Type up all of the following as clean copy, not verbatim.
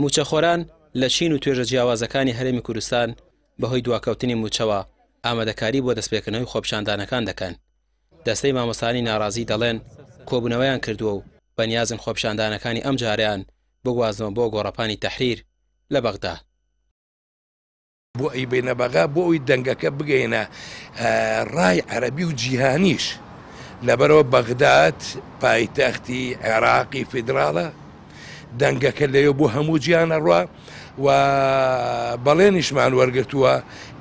مووچەخۆران لە چین و توێژە جیاوازەکانی هەرێمی کوردستان بەهۆی دواکەوتنی مووچەوە ئامادەکاری بۆ دەستپێکردنەوەی خۆپیشاندانەکان دەکەن. دەستەی مامۆستایانی ناڕازی دەڵێن کۆبوونەوەیان کردووە و بەنیازن خۆپیشاندانەکانی ئەمجارەیان بگوازنەوە بۆ گۆڕەپانی تەحریر لە بەغدا. بۆ ئەیبەینە بەغا بۆ ئەوی دەنگەکە بگەینە ڕای عەرەبی و جیهانیش لەبەرەوە بەغداد پایتەختی عێراقی فیدراڵە دەنگەکە لەوێ بۆ هەموو جیهان ئەڕوا و بەڵێنیشمان وەرگرتووە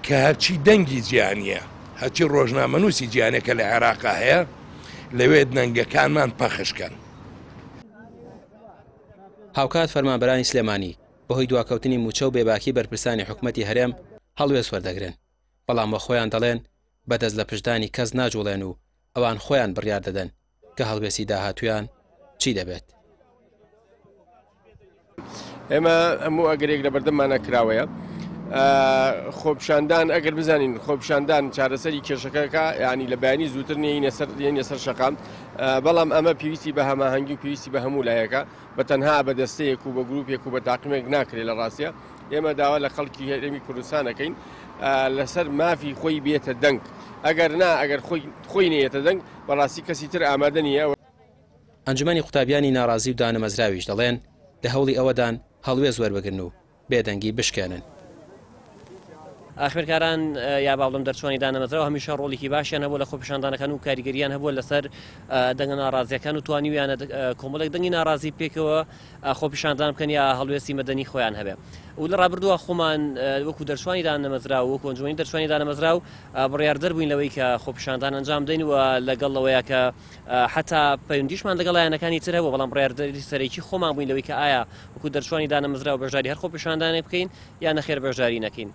کە هەرچی دەنگی جیهانیە هەرچی ڕۆژنامەنووسی جیهانە کە لە عێراقا هەیە لەوێ دەنگەکانمان پەخش کەن. هاوکات فەرمانبەرانی سلێمانی بەهۆی دواکەوتنی مووچە و بێباکی بەرپرسانی حکومەتی هەرێم هەڵوێست وەردەگرن، بەڵام وەخۆیان دەڵێن بە دەست لە پشتدانی کەس ناجوڵێن و ئەوان خۆیان بڕیار دەدەن کە هەڵوێستی داهاتوویان چی دەبێت. ئێمە هەموو ئەگەرێک لە بەردەممانە کراوەیە. خۆپیشاندان ئەگەر بزانین خۆپیشاندان چارەسەری کێشەکەکە ینی لە بەیانی زووتر نینە سەر یەنە سەر شەقام، بەڵام ئەمە پێویستی بە هەماهەنگی و پێویستی بە هەموو لایەکە، بە تەنها بە دەستەیەک و بە گروپێک و بە تاقمێک ناکرێت. لە ڕاستە ئێمە داوا لە خەڵکی هەرێمی کوردستانەکەین لەسەر مافی خۆی بێتە دەنگ، ئەگەر نا ئەگەر خۆی نێتە دەنگ بەڕاستی کەسی تر ئامادە نییە. ئەنجومەنی قوتابیانی ناڕازی و دانەمەزراویش دەڵێن لە هەوڵی ئەوەدان هەڵوێست وەربگرن و بێدەنگی بشکێنن. خوێندکاران یا با بڵێم دەرچوانی دانەمەزراوە هەمیشە ڕۆڵێکی باشیان هەبوو لە خۆپیشاندانەکان و کاریگەریان هەبووە لەسەر دەنگە ناڕازیەکان و توانیویانە کۆمەڵێک دەنگی ناڕازی پێکەوە خۆپیشاندان بکەن یا هەڵوێستی مەدەنی خۆیان هەبێ. و لە ڕابردووە خۆمان وەکو دەرچوانی دانەمەزراو وەکو ئەنجومەنی دەرچوانی دانەمەزراو بڕیاردەر بووین لەوەی کە خۆپیشاندان ئەنجام بدەین و لەگەڵ ئەوەیە کە حتا پەیوەندیشمان لەگەڵ لایەنەکانی تر هەبوو، بەڵام بڕیاردەری سەرەکی خۆمان بووین لەوەی کە ئایا وەکو دەرچوانی دانەمەزراو بەشداری هەر خۆپیشاندانێک بکەین یا نەخێر بەشداری نەکەین.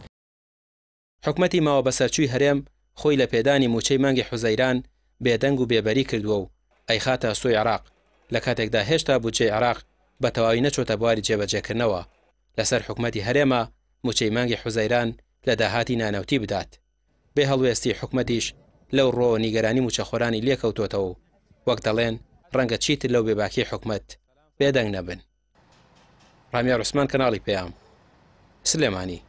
حکومەتی ماوە بەسەرچووی هەرێم خۆی لە پێدانی مووچەی مانگی حوزەیران بێدەنگ و بێبەری کردووە و ئەیخاتە ئەستۆی عێراق، لە کاتێکدا هێشتا بودجەی عێراق بە تەواوی نەچۆتە بواری جێبەجێکردنەوە، لەسەر حکومەتی هەرێمە مووچەی مانگی حوزەیران لە داهاتی نانەوتی بدات. بێ هەڵوێستی حکومەتیش لەو ڕووەوە نیگەرانی مووچەخۆرانی لێکەوتۆتەوە و وەک دەڵێن ڕەنگە چیتر لەو بێباکیی حکومەت بێدەنگ نەبن. ڕامیار عوسمان، کەناڵی پەیام، سلێمانی.